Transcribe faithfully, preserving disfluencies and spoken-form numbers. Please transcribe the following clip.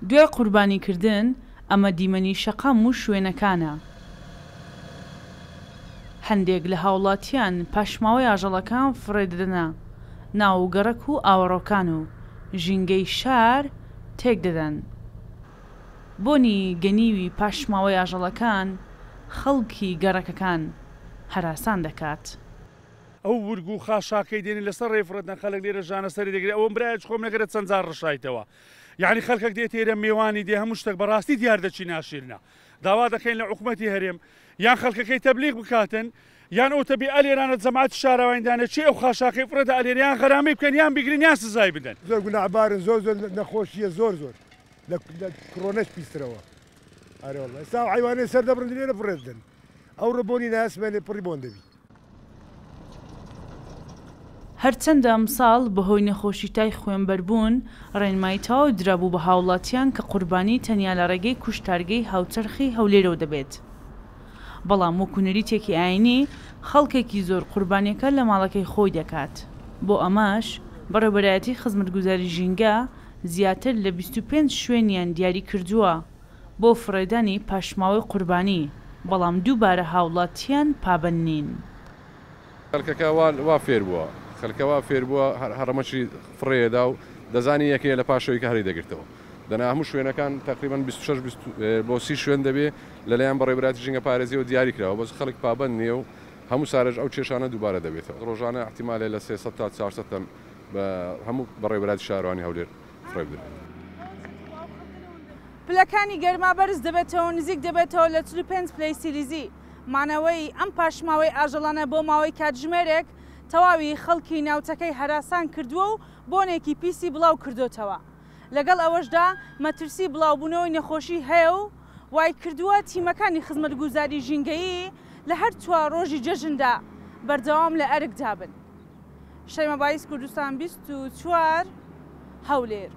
دوای قوربانیکردن ئەمە دیمەنی شەقام و شوێنەکانە. هەندێک لە هاوڵاتیان پاشماوەی ئاژەڵەکان فڕێدەدەنە ناو گەڕەک و ئاوەڕۆکان و ژینگەی شار تێک دەدەن. بۆنی گەنیوی پاشماوەی ئاژەڵەکان خەڵکی گەڕەکەکان هەراسان دەکات. ئەو ورگ و خاشاکەی دێنی لەسەر ڕێ فڕێدەن، خەڵک لێرە ژانە سەری دەگرێت. ئەوەم برایە خۆم نەگەرە چەند جار ڕشایتەوە، یعنی خەڵکێک دێت ئێرە میوانی دێ، هەموو شتێک بەڕاستی دیار دەچی ناشیرنە. داوا دەکەین لە حکومەتی هەرێم یان خەڵکەکەی تەبلیغ بکاتن، یان ئەو تەبی ئەلێرانە جەماعەت شارەوانیدانە چی ئەو خاشاکەی فڕێدە ئەلێرە، یان غەرامی بکەن یان بیگرن یان سزای بدەن. زۆر گوناهبارن، زۆر زۆر نەخۆشیە، زۆر زۆر لە کڕۆنەش پیسترەوە. ئەرێ والله ئێستا ئەو حەیوانەی سەر دەبڕن لێرە فڕێ بدەن، ئەو ڕۆ بۆنی ناسمێنێ پڕی بۆن دەبی. هەرچەندە ئەمساڵ بەهۆی نەخۆشی تای خوێنبەربوون ڕێنمایی تەواو درابوو بە هاوڵاتیان کە قوربانی تەنیا لە ڕێگەی کوشتارگەی هاوچەرخی هەولێرەوە دەبێت، بەڵام وەکو نەریتێکی ئاینی خەڵکێکی زۆر قوربانیەکە لە ماڵەکەی خۆی دەکات. بۆ ئەمەش بەڕێوەبەرایەتی خزمەتگوزاری ژینگە زیاتر لە بیست و پێنج شوێنیان دیاری کردووە بۆ فڕێدانی پاشماوەی قوربانی، بەڵام دووبارە هاوڵاتیان پابەند نین. خەڵکەکە وا فێر بووە، خەڵکە وا فێر بووە هەڕەمەکی فڕێدا و دەزانی یەکەیە لە پاشەوەی کە هەری دەگرتەوە. دەنا هەموو شوێنەکان تقریبا بیست و شەش بۆ سی شوێن دەبێ لەلایەن بەڕێوەبەرایەتی ژینگە پارێزیەوە دیاری کراوە، بەس خەڵک پابەند نییە و هەموو سارەش ئەو کێشانە دووبارە دەبێتەوە. ڕۆژانە احتیمالێ لە سێ سەد تا چوار سەد تەن بە هەموو بەڕێوەبەرایەتی شارەوانی هەولێر فڕێ بدرێت. پلەکانی گەرما بەرز دەبێتەوە، نزیک دەبێتەوە لە چل و پێنج پلەی سیلیزی. مانەوەی ئەم پاشماوەی ئاژەڵانە بۆ ماوەی کاتژمێرێک تەواوی خەڵکی ناوچەکەی هەراسان کردووە و بۆنێکی پیسی بڵاو کردوتەوە. لەگەڵ ئەوەشدا مەترسی بڵاوبوونەوەی نەخۆشی هەیە و وای کردووە تیمەکانی خزمەتگوزاری ژینگەیی لە هەر چوار ڕۆژی جەژندا بەردەوام لە ئەرکدا بن. شەیمە بایز، کوردستان بیست و چوار، هەولێر.